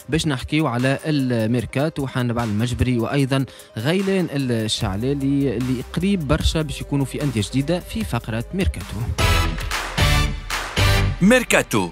باش نحكيو على الميركاتو حنبعل المجبري وايضا غيلان الشعلالي اللي قريب برشا باش يكونوا في اندية جديدة في فقره ميركاتو. ميركاتو.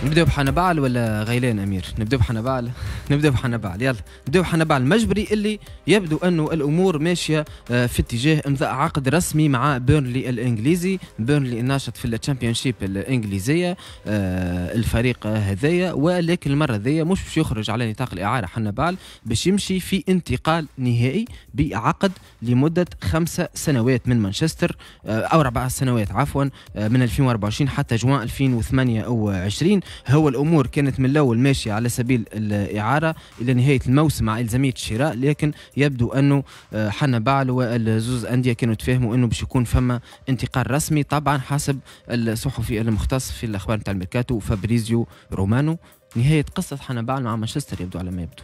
نبداو بحنبعل ولا غيلان امير؟ نبداو بحنبعل، نبداو بحنبعل، يلا نبداو بحنبعل المجبري اللي يبدو انه الامور ماشية في اتجاه امضاء عقد رسمي مع بيرنلي الانجليزي، بيرنلي الناشط في ال Championship الانجليزية الفريق هذايا، ولكن المرة ذي مش باش يخرج على نطاق الاعارة حنبعل، باش يمشي في انتقال نهائي بعقد لمدة 5 سنوات من مانشستر او 4 سنوات عفوا، من 2024 حتى جوان 2028. هو الامور كانت من الاول ماشية على سبيل الاعارة الى نهاية الموسم مع الزامية الشراء، لكن يبدو انه حنبعل والزوز اندية كانوا تفاهموا انه باش يكون فما انتقال رسمي، طبعا حسب الصحفي المختص في الاخبار نتاع الميركاتو فابريزيو رومانو. نهاية قصة حنبعل مع مانشستر يبدو على ما يبدو.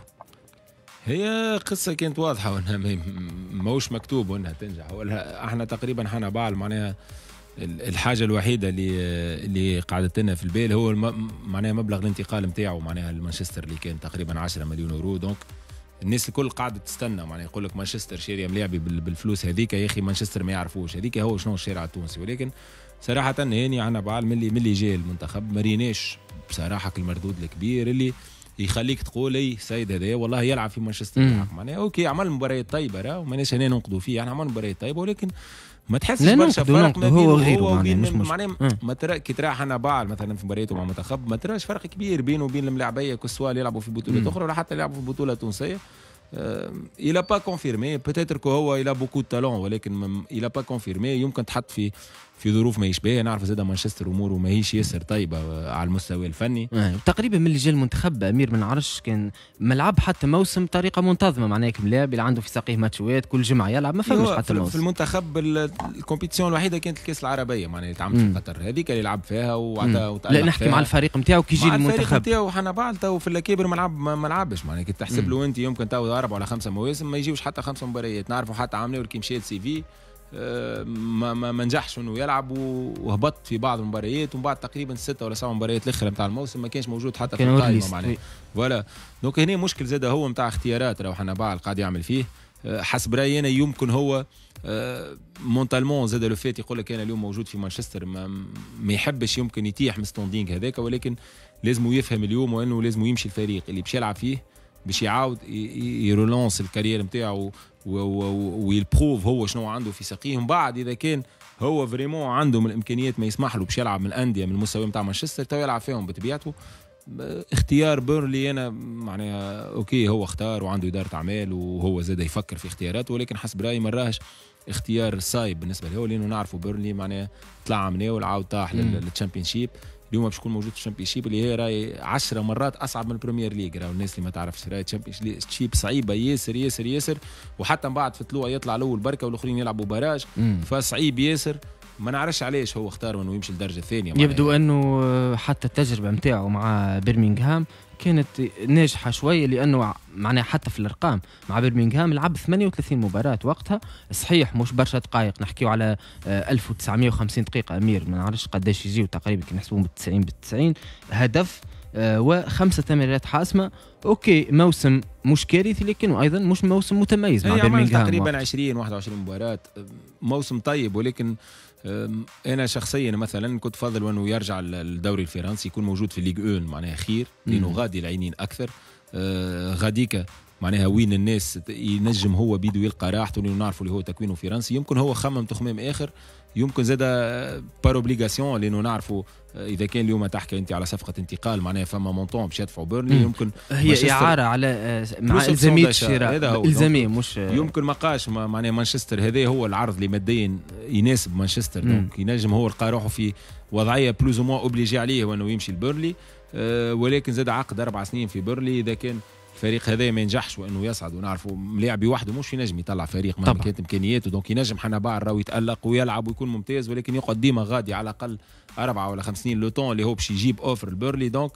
هي قصة كانت واضحة وانها ماهوش مكتوب وانها تنجح، ولا احنا تقريبا حنبعل معناها الحاجة الوحيدة اللي قعدت لنا في البال هو معناها مبلغ الانتقال نتاعو معناها لمانشستر اللي كان تقريبا 10 مليون يورو. donc الناس الكل قاعدة تستنى، معناها يقول لك مانشستر شاري ملاعبي بالفلوس هذيك، يا اخي مانشستر ما يعرفوش، هذيك هو شنو الشارع التونسي. ولكن صراحة هاني حنبعل ملي جاي المنتخب ما ريناش بصراحة المردود الكبير اللي يخليك تقول اي سيد هذا والله يلعب في مانشستر. معناها OK عمل مباريات طيبة راه، وماناش هنا ننقدوا فيه، يعني عمل مباريات طيبة ولكن ما تحسش برشا فرق ما بين هو وغيره. وبين معناها ما ترى كي ترى حنبعل مثلا في مبارياته مع المنتخب ما تراش فرق كبير بينه وبين الملاعبيه، que ce soit يلعبوا في بطولات اخرى ولا حتى يلعبوا في بطوله تونسيه. il a pas confirmé، peut-être que هو il a beaucoup de talent ولكن il a pas confirmé. يمكن تحط في ظروف ما يشبه، نعرف زاد مانشستر اموره ماهيش ياسر طيبة على المستوى الفني. تقريبا من اللي جا المنتخب امير ما نعرفش كان ملعب حتى موسم بطريقة منتظمه، معناها ملاعب اللي عنده في ساقيه ماتشوات كل جمعه يلعب، ما فماش حتى موسم. في المنتخب ال compétition الوحيدة كانت الكاس العربيه، معناها اللي تعملت في قطر، هذيك اللي لعب فيها وعطى. لا نحكي مع الفريق نتاعو كي يجي المنتخب. الفريق نتاعو حنبعل تو في الاكابر ما لعبش، معناها كي تحسب له انت يمكن تو 4 ولا 5 مواسم ما يجيوش حتى خمسة مباريات. نعرفوا حتى عامناول كي مشى لسيفي ما نجحش انه يلعب وهبط في بعض المباريات، ومن بعد تقريبا 6 ولا 7 مباريات الاخرى نتاع الموسم ما كانش موجود حتى في القائمة معناها. voilà، donc هنا مشكل زاد هو نتاع اختيارات راهو حنبعل قاعد يعمل فيه. حسب رايي انا يمكن هو mentalement زاد le fait يقول لك انا اليوم موجود في مانشستر ما يحبش يمكن يتيح من standing هذاك، ولكن لازم يفهم اليوم وانه لازم يمشي الفريق اللي باش يلعب فيه باش يعاود ي relance ال carrière نتاعو وي prouve هو شنو عنده في ساقيه. من بعد اذا كان هو vraiment عنده من الامكانيات ما يسمح له باش يلعب من الاندية من المستوى نتاع مانشستر تو يلعب فيهم بطبيعته. اختيار بيرنلي انا معناها OK هو اختار وعنده ادارة اعمال وهو زاد يفكر في اختياراته، ولكن حسب رايي ما راهش اختيار صايب بالنسبة له، لانه نعرفوا بيرنلي معناها طلع عامناول عاود طاح لل Championship. اليوم باش يكون موجود في ال Championship اللي هي راي 10 مرات اصعب من ال Premier League. راهو الناس اللي ما تعرفش راي ال Championship صعيبة ياسر ياسر ياسر، وحتى من بعد في طلوع يطلع الاول بركة والاخرين يلعبوا barrage، فصعيب ياسر. ما نعرفش علاش هو اختار انه يمشي للدرجة الثانيه. يبدو انه حتى التجربة نتاعو مع برمنغهام كانت ناجحة شويه، لانه معناها حتى في الارقام مع برمنغهام لعب 38 مباراة وقتها، صحيح مش برشا دقائق، نحكيو على 1950 دقيقة امير، ما نعرفش قداش يجيو تقريبا كي نحسبوهم بال 90 بال 90، هدف وخمسة تمريرات حاسمه. OK موسم مش كارثي لكنه ايضا مش موسم متميز مع برمنغهام. تقريبا 20 21 مباراه، موسم طيب، ولكن انا شخصيا مثلا كنت فضل انه يرجع للدوري الفرنسي، يكون موجود في Ligue 1 معناها خير، لانه غادي العينين اكثر غاديكا معناها وين الناس ينجم هو بيدو يلقى راحته، لانه نعرفوا اللي هو تكوينه فرنسي. يمكن هو خمم تخمام اخر، يمكن زاد par obligation، لانه نعرفوا اذا كان اليوم تحكي انت على صفقة انتقال معناها فما montant باش يدفعوا بيرنلي يمكن هي اعاره على مع الزامية الشراء، الزامية مش يمكن ما قاش معناها مانشستر هذا هو العرض اللي ماديا يناسب مانشستر، donc ينجم هو لقى روحه في وضعية plus ou moins obligé عليه وانه يمشي لبيرنلي. ولكن زاد عقد 4 سنين في بيرنلي، اذا كان الفريق هذا ما ينجحش وانه يصعد، ونعرفوا ملاعبي وحده مش ينجم يطلع فريق مهما كانت امكانياته، donc ينجم حنبعل راهو يتالق ويلعب ويكون ممتاز، ولكن يقعد ديما غادي على الاقل 4 ولا 5 سنين، le temps اللي هو باش يجيب offre البيرنلي. donc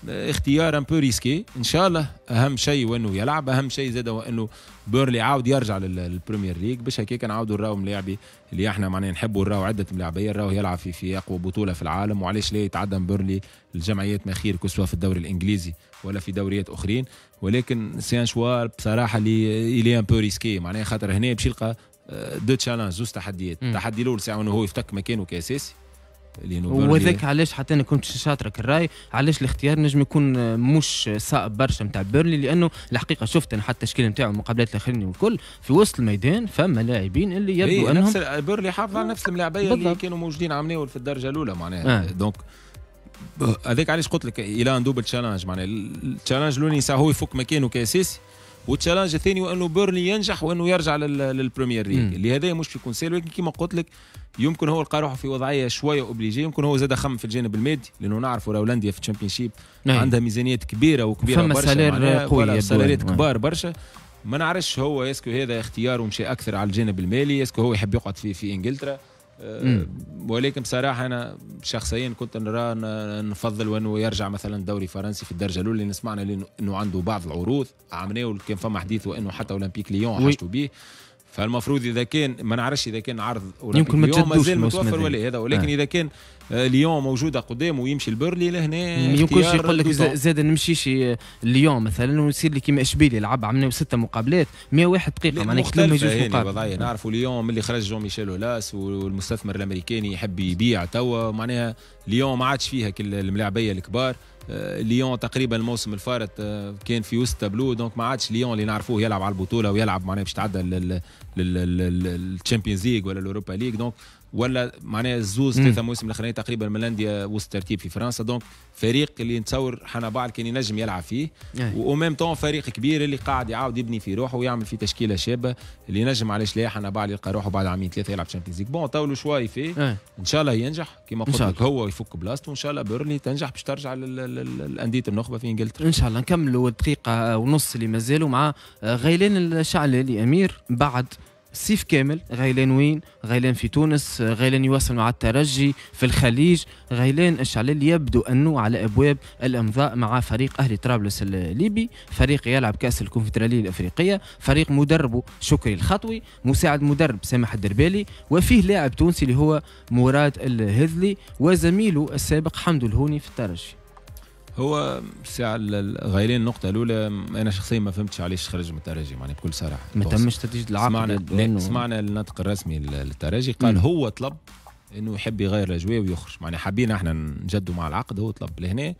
اختيار un peu risqué. ان شاء الله اهم شيء وانه يلعب، اهم شيء زاد هو انه بيرلي عاود يرجع لل Premier League باش هكاك نعاودوا نراو ملاعبي اللي احنا معناها نحبوا نراو عده ملاعبيه، نراو يلعب في اقوى بطوله في العالم، وعلاش لا يتعدى بيرلي الجمعيات ما خير que ce soit في الدوري الانجليزي ولا في دوريات اخرين. ولكن c'est un choix بصراحة اللي il est un peu risqué، معناها خاطر هنا باش يلقى deux challenges، زوز تحديات. التحدي الاول ساعة انه هو يفتك مكانه كاساسي، وذاك علاش حتى انا كنت شاطرك الراي، علاش الاختيار نجم يكون مش صائب برشا نتاع بيرلي، لانه الحقيقة شفت انا حتى التشكيل نتاعو المقابلات الاخرين والكل في وسط الميدان فما لاعبين اللي يبدو انهم نفس بيرلي حافظ على نفس الملاعبيه اللي كانوا موجودين عمناول في الدرجة الاولى معناها. donc هذاك علاش قلت لك il a un double challenge، معناها ال challenge الاولاني هو يفك مكانه كاساسي، وال challenge الثاني هو انه بيرلي ينجح وانه يرجع لل Premier League، اللي هذا مش يكون سهل. ولكن كما قلت لك يمكن هو لقى روحه في وضعية شوية obligé، يمكن هو زاد خم في الجانب المادي، لانه نعرفوا راهو الاندية في ال Championship عندها ميزانيات كبيرة وكبيره برشا، salaire قوي، salaire ات كبار برشا. ما نعرفش هو est-ce que هذا اختياره مشي اكثر على الجانب المالي، est-ce que هو يحب يقعد في انجلترا. ولكن بصراحة انا شخصيا كنت نرى نفضل وانه يرجع مثلا دوري فرنسي في الدرجة الاولى، اللي سمعنا انه عنده بعض العروض عملناه، كان فما حديث وانه حتى اولمبيك ليون حاجته به، فالمفروض اذا كان ما نعرفش اذا كان عرض يمكن ليون مازال متوفر ولا هذا، ولكن اذا كان ليون موجودة قدامه ويمشي البرلي لهنا يمكنش يقول لك زاد نمشيش ليون مثلا ويصير لي كيما اشبيلي لعب عملنا 6 مقابلات 101 دقيقه، معناها ما يجوش مقابل. نعرفوا ليون ملي خرج جون ميشيل اولاس والمستثمر الامريكاني يحب يبيع توا، معناها ليون ما عادش فيها كل الملاعبيه الكبار. ليون تقريبا الموسم الفارط كان في وسط tableau، donc ما عادش ليون اللي نعرفوه يلعب على البطولة ويلعب معناها باش تعدى لل Champions League ولا ال Europa League. donc ولا معناها الزوز 3 مواسم الاخرانية تقريبا من الاندية وسط ترتيب في فرنسا، donc فريق اللي نتصور حنبعل كان ينجم يلعب فيه، و même temps فريق كبير اللي قاعد يعاود يبني في روحه ويعمل في تشكيله شابه اللي ينجم علاش لا حنبعل يلقى روحه بعد عامين ثلاثة يلعب Champions League. bon تو le choix فيه، ان شاء الله ينجح كما قلت لك هو يفك بلاصته، وان شاء الله بيرلي تنجح باش ترجع للاندية النخبة في انجلترا. ان شاء الله. نكملوا الدقيقة ونص اللي مازالوا مع غيلان الشعلالي امير، بعد صيف كامل غيلان وين؟ غيلان في تونس، غيلان يواصل مع الترجي في الخليج. غيلان الشعلالي يبدو أنه على أبواب الإمضاء مع فريق أهلي طرابلس الليبي، فريق يلعب كأس الكونفدرالية الأفريقية، فريق مدربه شكري الخطوي، مساعد مدرب سامح الدربالي، وفيه لاعب تونسي اللي هو مراد الهذلي وزميله السابق حمدو الهوني في الترجي. هو ساعة غيلان النقطة الأولى أنا شخصيا ما فهمتش علاش خرج من الترجي، يعني بكل صراحة. ما تمش تجديد العقد. سمعنا الناطق الرسمي للترجي قال هو طلب انه يحب يغير الاجواء ويخرج، معناها حابين احنا نجدوا مع العقد، هو طلب لهنا.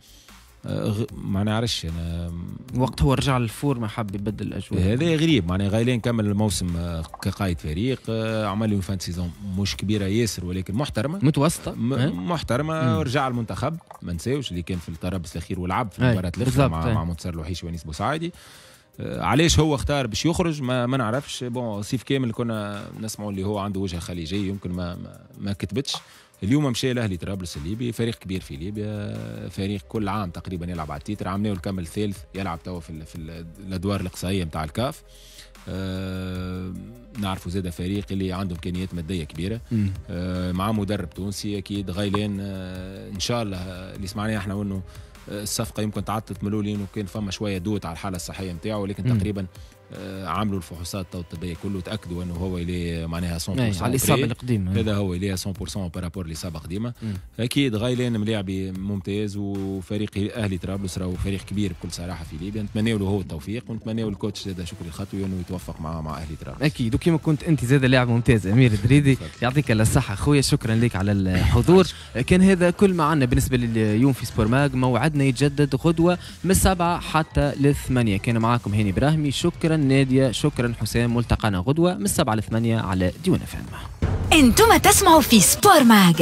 ما نعرفش انا. وقت هو رجع لل forme حب يبدل الاجواء. هذا غريب، معناها غيلان كمل الموسم كقائد فريق، عمل له fin de saison مش كبيرة ياسر ولكن محترمه. متوسطه. محترمه. رجع المنتخب ما نساوش اللي كان في التربص الاخير ولعب في المباراة الاخرى مع منتصر الوحيشي ونيس بوسعيدي. علاش هو اختار باش يخرج ما نعرفش. bon صيف كامل كنا نسمعوا اللي هو عنده وجهه خليجيه، يمكن ما كتبتش. اليوم مشى الاهلي طرابلس الليبي، فريق كبير في ليبيا، فريق كل عام تقريبا يلعب على ال titre، عام كمل ثالث، يلعب توا في الادوار الاقصائية نتاع الكاف. نعرفوا زاد فريق اللي عنده امكانيات مادية كبيره، مع مدرب تونسي اكيد غيلان. ان شاء الله اللي سمعناه احنا انه الصفقة يمكن تعطلت من الاول لانه كان فما شوية doute على الحالة الصحية نتاعو، ولكن تقريبا عملوا الفحوصات الطبية كله، تاكدوا انه هو اللي معناها 100% على الاصابة القديمه. هذا هو اللي 100% par rapport الاصابة قديمه. اكيد غايلان ملاعبي ممتاز، وفريق اهلي طرابلس راهو فريق كبير بكل صراحة في ليبيا. نتمنى له هو التوفيق ونتمنى ال coach زاد شكري الخطوي انه يتوفق مع اهلي طرابلس. اكيد، وكما كنت انت زاد لاعب ممتاز امير دريدي، يعطيك الصحة خويا، شكرا لك على الحضور. كان هذا كل ما عندنا بالنسبة لليوم في سبور ماغ. موعدنا يتجدد غدوه من 7 حتى ل8. كان معاكم هاني ابراهيمي، شكرا ناديه، شكرا حسام. ملتقانا غدوه من 7 ل 8 على ديوان اف ام. انتم تسمعوا في سبور ماغ.